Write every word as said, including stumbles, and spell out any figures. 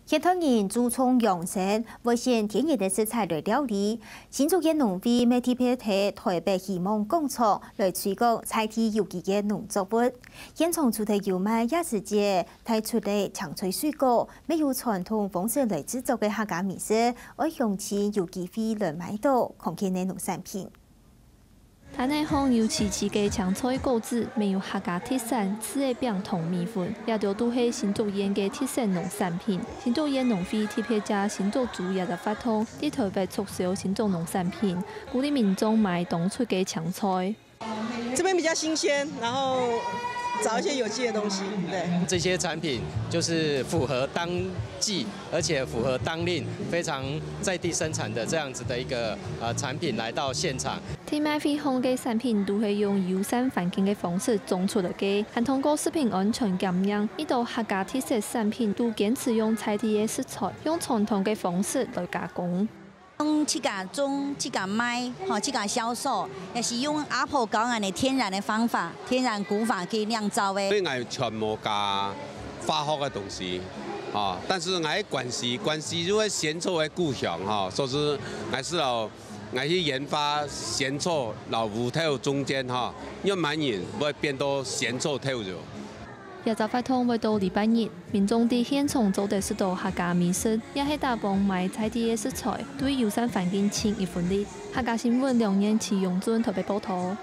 現代人注重養生，會選天然个食材來料理。新竹縣農會乜特別在台北希望工廠來推廣在地有機个農作物。現場除忒有賣夜市節帶出个青菜水果，乜有傳統方式來製作个客家美食，愛鄉親有機會來買到，看見个農產品。 攤仔項有萋萋个青菜果子，乜有客家特產柿仔餅同米粉，這兜都係新竹縣个特色農產品。新竹縣農會特別借新竹週這隻活動，在台北促銷新竹農產品，鼓勵民眾買當出个青菜。這邊比較新鮮，然後找一些有機的東西。對，這些產品就是符合當季，而且符合當令，非常在地生產的這樣子的一個呃產品來到現場。 在賣會項个產品都係用友善環境个方式種出來个，還通過食品安全檢驗，一兜客家特色產品都堅持用在地个食材，用傳統个方式來加工。用自家種、自家賣、吼自家銷售，也是用阿婆教𠊎个天然个方法、天然古法去釀造个。所以𠊎全無加化學个東西，吼，但是𠊎个關西，關西就係仙草个故鄉，吼，所以𠊎係哦。 𠊎去研發仙草摎烏豆中間吼，越南人會變到仙草豆油。這隻活動會到禮拜日，民眾在現場做得食到客家美食，也係打幫買在地个食材，對友善環境盡一分力。客家新聞梁彥琪、楊俊台北報導。